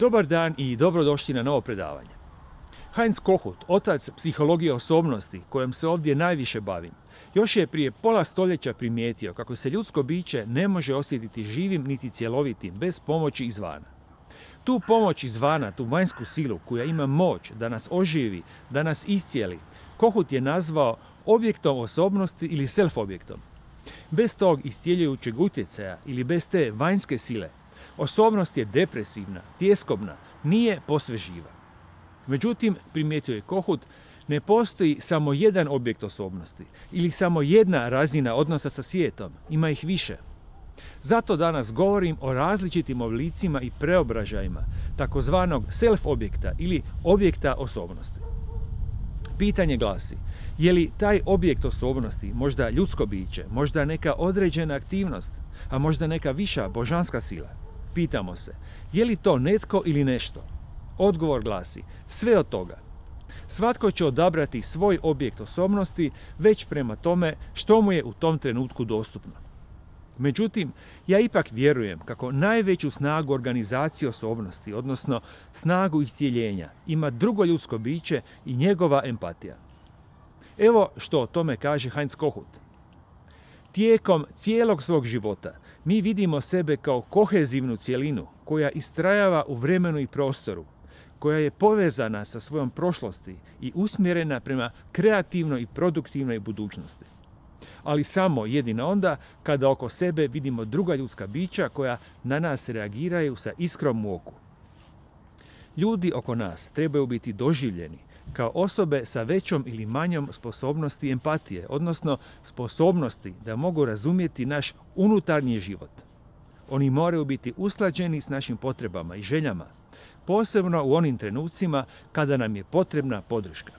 Dobar dan i dobrodošli na novo predavanje. Heinz Kohut, otac psihologije osobnosti, kojom se ovdje najviše bavim, još je prije pola stoljeća primijetio kako se ljudsko biće ne može osjetiti živim niti cjelovitim bez pomoći izvana. Tu pomoć izvana, tu vanjsku silu koja ima moć da nas oživi, da nas iscijeli, Kohut je nazvao objektom osobnosti ili self-objektom. Bez tog iscijeljujućeg utjecaja ili bez te vanjske sile, osobnost je depresivna, tjeskobna, nije posve živa. Međutim, primijetio je Kohut, ne postoji samo jedan objekt osobnosti ili samo jedna razina odnosa sa svijetom, ima ih više. Zato danas govorim o različitim oblicima i preobražajima takozvanog self-objekta ili objekta osobnosti. Pitanje glasi, je li taj objekt osobnosti možda ljudsko biće, možda neka određena aktivnost, a možda neka viša božanska sila? Pitamo se, je li to netko ili nešto? Odgovor glasi, sve od toga. Svatko će odabrati svoj objekt osobnosti već prema tome što mu je u tom trenutku dostupno. Međutim, ja ipak vjerujem kako najveću snagu organizacije osobnosti, odnosno snagu iscijeljenja, ima drugo ljudsko biće i njegova empatija. Evo što o tome kaže Heinz Kohut. Tijekom cijelog svog života mi vidimo sebe kao kohezivnu cjelinu koja istrajava u vremenu i prostoru, koja je povezana sa svojom prošlosti i usmjerena prema kreativnoj i produktivnoj budućnosti. Ali samo jedino onda kada oko sebe vidimo druga ljudska bića koja na nas reagiraju sa iskrom u oku. Ljudi oko nas trebaju biti doživljeni kao osobe sa većom ili manjom sposobnosti empatije, odnosno sposobnosti da mogu razumjeti naš unutarnji život. Oni moraju biti usklađeni s našim potrebama i željama, posebno u onim trenucima kada nam je potrebna podrška.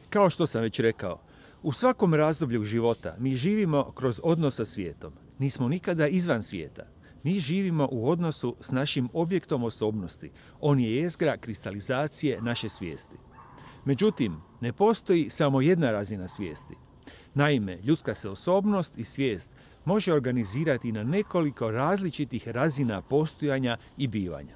Kao što sam već rekao, u svakom razdoblju života mi živimo kroz odnos sa svijetom. Nismo nikada izvan svijeta. Mi živimo u odnosu s našim objektom osobnosti. On je jezgra kristalizacije naše svijesti. Međutim, ne postoji samo jedna razina svijesti. Naime, ljudska se osobnost i svijest može organizirati na nekoliko različitih razina postojanja i bivanja.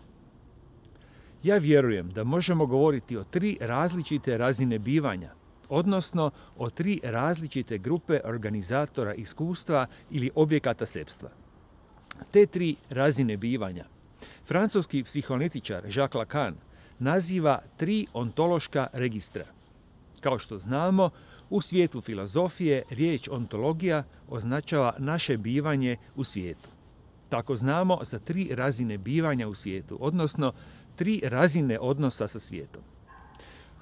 Ja vjerujem da možemo govoriti o 3 različite razine bivanja, odnosno o 3 različite grupe organizatora iskustva ili objekata sebstva. Te 3 razine bivanja francuski psihoanalitičar Jacques Lacan naziva 3 ontološka registra. Kao što znamo, u svijetu filozofije riječ ontologija označava naše bivanje u svijetu. Tako znamo za 3 razine bivanja u svijetu, odnosno 3 razine odnosa sa svijetom.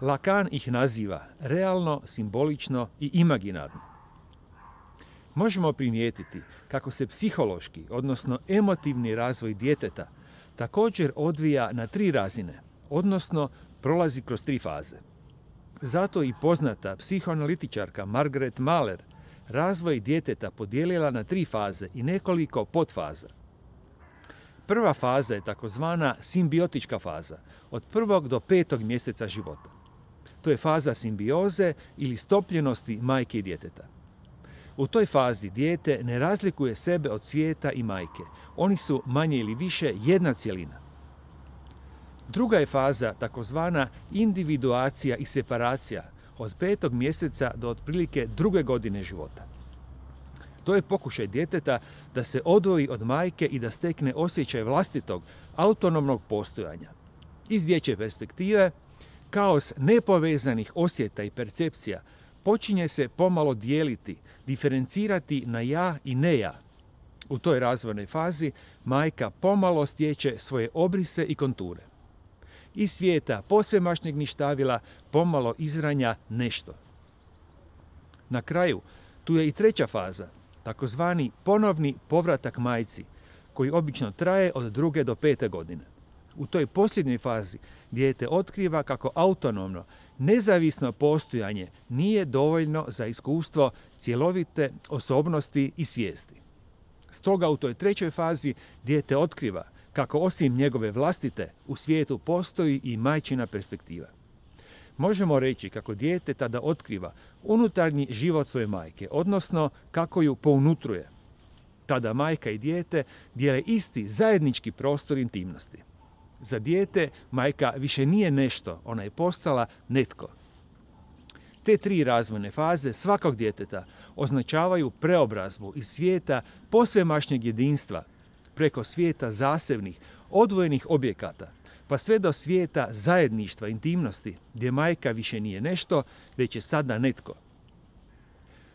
Lacan ih naziva realno, simbolično i imaginarno. Možemo primijetiti kako se psihološki, odnosno emotivni razvoj djeteta također odvija na 3 razine, odnosno prolazi kroz 3 faze. Zato i poznata psihoanalitičarka Margaret Mahler razvoj djeteta podijelila na 3 faze i nekoliko podfaza. Prva faza je takozvana simbiotička faza, od 1. do 5. mjeseca života. To je faza simbioze ili stopljenosti majke i djeteta. U toj fazi dijete ne razlikuje sebe od svijeta i majke. Oni su manje ili više jedna cjelina. Druga je faza takozvana individuacija i separacija od 5. mjeseca do otprilike 2. godine života. To je pokušaj djeteta da se odvoji od majke i da stekne osjećaj vlastitog, autonomnog postojanja. Iz dječje perspektive, kaos nepovezanih osjeta i percepcija počinje se pomalo dijeliti, diferencirati na ja i ne ja. U toj razvojnoj fazi majka pomalo stječe svoje obrise i konture. Iz svijeta posvemašnjeg ništavila pomalo izranja nešto. Na kraju, tu je i 3. faza, takozvani ponovni povratak majci, koji obično traje od 2. do 5. godine. U toj posljednjoj fazi dijete otkriva kako autonomno, nezavisno postojanje nije dovoljno za iskustvo cjelovite osobnosti i svijesti. Stoga u toj 3. fazi dijete otkriva kako osim njegove vlastite u svijetu postoji i majčina perspektiva. Možemo reći kako dijete tada otkriva unutarnji život svoje majke, odnosno kako ju pounutruje. Tada majka i dijete dijele isti zajednički prostor intimnosti. Za dijete majka više nije nešto, ona je postala netko. Te 3 razvojne faze svakog djeteta označavaju preobrazbu iz svijeta posvemašnjeg jedinstva preko svijeta zasebnih, odvojenih objekata, pa sve do svijeta zajedništva, intimnosti, gdje majka više nije nešto, već je sada netko.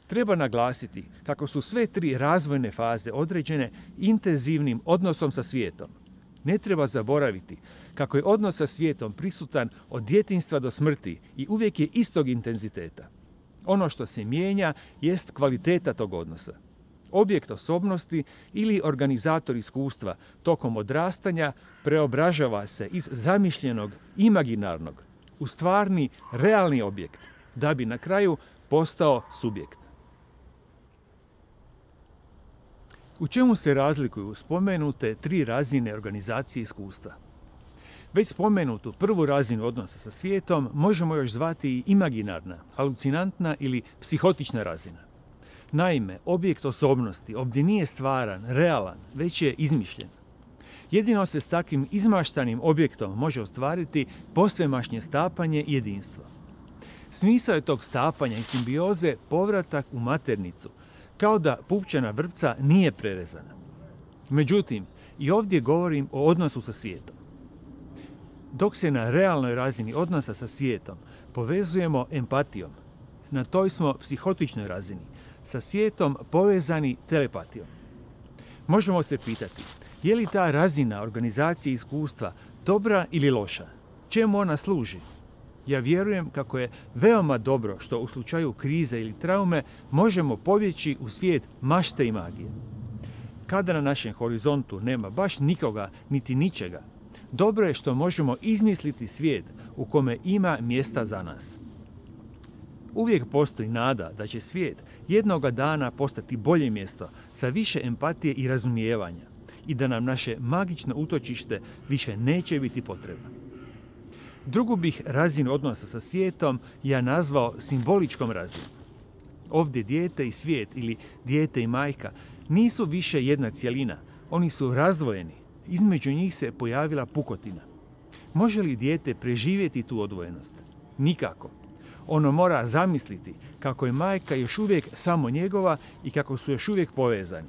Treba naglasiti kako su sve 3 razvojne faze određene intenzivnim odnosom sa svijetom. Ne treba zaboraviti kako je odnos sa svijetom prisutan od djetinjstva do smrti i uvijek je istog intenziteta. Ono što se mijenja jest kvaliteta tog odnosa. Objekt osobnosti ili organizator iskustva tokom odrastanja preobražava se iz zamišljenog imaginarnog u stvarni, realni objekt, da bi na kraju postao subjekt. U čemu se razlikuju spomenute 3 razine organizacije iskustva? Već spomenutu prvu razinu odnosa sa svijetom možemo još zvati i imaginarna, halucinantna ili psihotična razina. Naime, objekt osobnosti ovdje nije stvaran, realan, već je izmišljen. Jedino se s takvim izmaštanim objektom može ostvariti posvemašnje stapanje i jedinstvo. Smisao je tog stapanja i simbioze povratak u maternicu, kao da pupčana vrpca nije prerezana. Međutim, i ovdje govorim o odnosu sa svijetom. Dok se na realnoj razini odnosa sa svijetom povezujemo empatijom, na toj smo psihotičnoj razini, sa svijetom povezani telepatijom. Možemo se pitati, je li ta razina organizacije iskustva dobra ili loša? Čemu ona služi? Ja vjerujem kako je veoma dobro što u slučaju krize ili traume možemo pobjeći u svijet mašte i magije. Kada na našem horizontu nema baš nikoga niti ničega, dobro je što možemo izmisliti svijet u kome ima mjesta za nas. Uvijek postoji nada da će svijet jednoga dana postati bolje mjesto sa više empatije i razumijevanja i da nam naše magično utočište više neće biti potrebno. Drugu bih razinu odnosa sa svijetom ja nazvao simboličkom razinom. Ovdje dijete i svijet ili dijete i majka nisu više jedna cjelina, oni su razdvojeni, između njih se pojavila pukotina. Može li dijete preživjeti tu odvojenost? Nikako. Ono mora zamisliti kako je majka još uvijek samo njegova i kako su još uvijek povezani.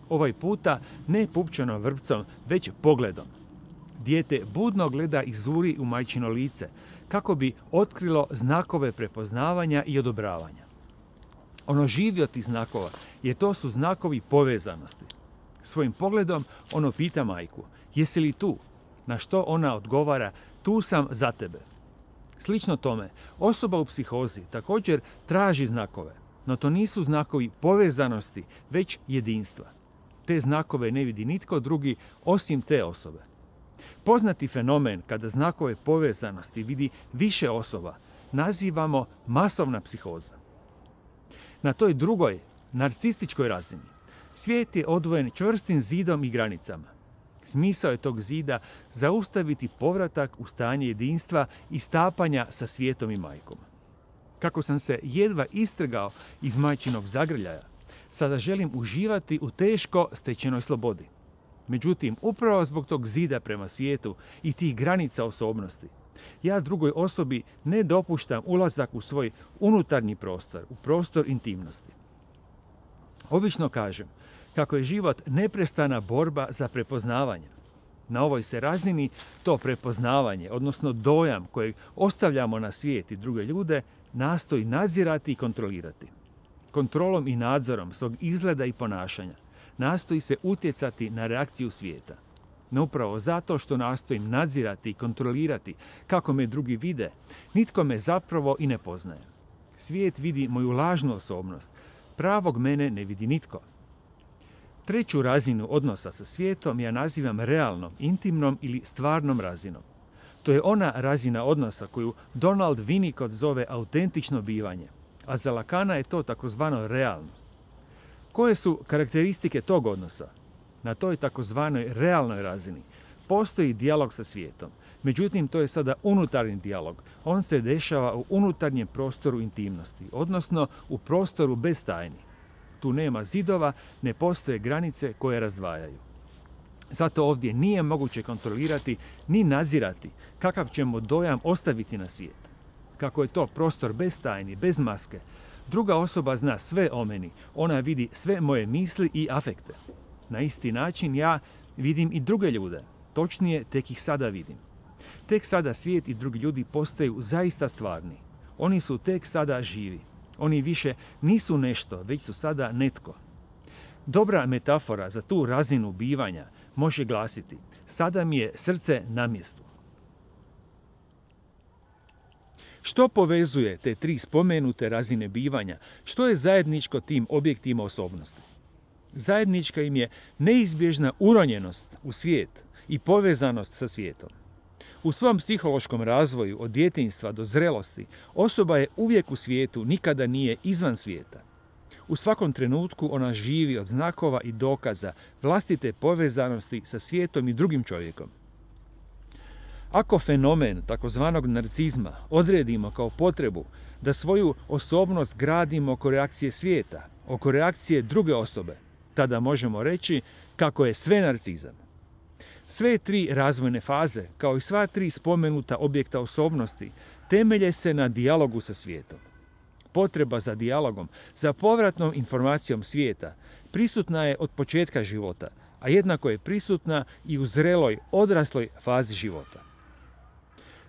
Ovaj puta ne pupčanom vrpcom, već pogledom. Dijete budno gleda i zuri u majčino lice, kako bi otkrilo znakove prepoznavanja i odobravanja. Ono živi od tih znakova, jer to su znakovi povezanosti. Svojim pogledom ono pita majku, jesi li tu? Na što ona odgovara, tu sam za tebe. Slično tome, osoba u psihozi također traži znakove, no to nisu znakovi povezanosti, već jedinstva. Te znakove ne vidi nitko drugi osim te osobe. Poznati fenomen kada znakove povezanosti vidi više osoba nazivamo masovna psihoza. Na toj drugoj, narcističkoj razini, svijet je odvojen čvrstim zidom i granicama. Smisao je tog zida zaustaviti povratak u stanje jedinstva i stapanja sa svijetom i majkom. Kako sam se jedva istrgao iz majčinog zagrljaja, sada želim uživati u teško stečenoj slobodi. Međutim, upravo zbog tog zida prema svijetu i tih granica osobnosti, ja drugoj osobi ne dopuštam ulazak u svoj unutarnji prostor, u prostor intimnosti. Obično kažem kako je život neprestana borba za prepoznavanje. Na ovoj se razini to prepoznavanje, odnosno dojam kojeg ostavljamo na svijet i druge ljude, nastoji nadzirati i kontrolirati. Kontrolom i nadzorom svog izgleda i ponašanja nastoji se utjecati na reakciju svijeta. No upravo zato što nastojim nadzirati i kontrolirati kako me drugi vide, nitko me zapravo i ne poznaje. Svijet vidi moju lažnu osobnost, pravog mene ne vidi nitko. Treću razinu odnosa sa svijetom ja nazivam realnom, intimnom ili stvarnom razinom. To je ona razina odnosa koju Donald Winnicott zove autentično bivanje, a za Lacana je to takozvano realno. Koje su karakteristike tog odnosa? Na toj takozvanoj realnoj razini postoji dijalog sa svijetom. Međutim, to je sada unutarnji dijalog. On se dešava u unutarnjem prostoru intimnosti, odnosno u prostoru bez tajni. tu nema zidova, ne postoje granice koje razdvajaju. Zato ovdje nije moguće kontrolirati ni nadzirati kakav ćemo dojam ostaviti na svijet. Kako je to prostor bez tajni, bez maske, druga osoba zna sve o meni, ona vidi sve moje misli i afekte. Na isti način ja vidim i druge ljude, točnije tek ih sada vidim. Tek sada svijet i drugi ljudi postaju zaista stvarni. Oni su tek sada živi. Oni više nisu nešto, već su sada netko. Dobra metafora za tu razinu bivanja može glasiti: sada mi je srce na mjestu. Što povezuje te tri spomenute razine bivanja? Što je zajedničko tim objektima osobnosti? Zajednička im je neizbježna uronjenost u svijet i povezanost sa svijetom. U svom psihološkom razvoju od djetinjstva do zrelosti osoba je uvijek u svijetu, nikada nije izvan svijeta. U svakom trenutku ona živi od znakova i dokaza vlastite povezanosti sa svijetom i drugim čovjekom. Ako fenomen takozvanog narcizma odredimo kao potrebu da svoju osobnost gradimo oko reakcije svijeta, oko reakcije druge osobe, tada možemo reći kako je sve narcizam. Sve tri razvojne faze, kao i sva tri spomenuta objekta osobnosti, temelje se na dijalogu sa svijetom. Potreba za dijalogom, za povratnom informacijom svijeta, prisutna je od početka života, a jednako je prisutna i u zreloj, odrasloj fazi života.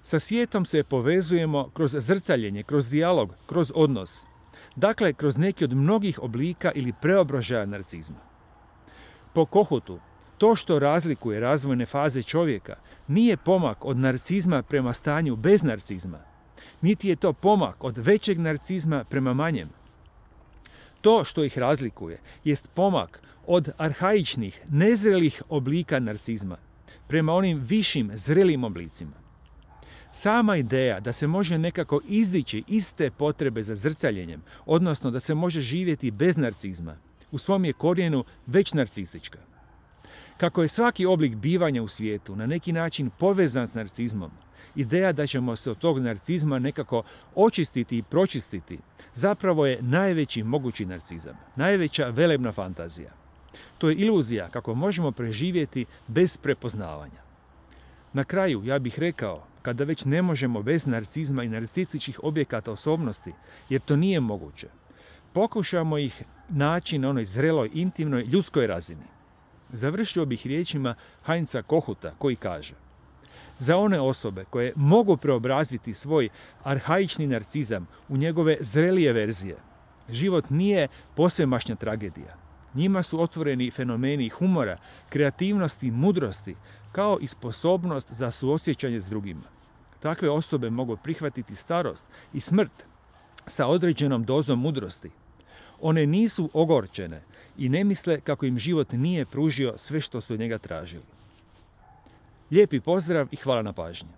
Sa svijetom se povezujemo kroz zrcaljenje, kroz dijalog, kroz odnos. Dakle, kroz neki od mnogih oblika ili preobražaja narcizma. Po Kohutu, to što razlikuje razvojne faze čovjeka nije pomak od narcizma prema stanju bez narcizma, niti je to pomak od većeg narcizma prema manjem. To što ih razlikuje jest pomak od arhaičnih, nezrelih oblika narcizma prema onim višim, zrelim oblicima. Sama ideja da se može nekako izdići iz te potrebe za zrcaljenjem, odnosno da se može živjeti bez narcizma, u svom je korijenu već narcistička. Kako je svaki oblik bivanja u svijetu na neki način povezan s narcizmom, ideja da ćemo se od tog narcizma nekako očistiti i pročistiti zapravo je najveći mogući narcizam, najveća velebna fantazija. To je iluzija kako možemo preživjeti bez prepoznavanja. Na kraju ja bih rekao, kada već ne možemo bez narcizma i narcističkih objekata osobnosti, jer to nije moguće, pokušamo ih naći na onoj zreloj, intimnoj, ljudskoj razini. Završio bih riječima Heinza Kohuta koji kaže: za one osobe koje mogu preobraziti svoj arhaični narcizam u njegove zrelije verzije, život nije posvemašnja tragedija. Njima su otvoreni fenomeni humora, kreativnosti, mudrosti, kao i sposobnost za suosjećanje s drugima. Takve osobe mogu prihvatiti starost i smrt sa određenom dozom mudrosti. One nisu ogorčene i ne misle kako im život nije pružio sve što su od njega tražili. Lijepi pozdrav i hvala na pažnji.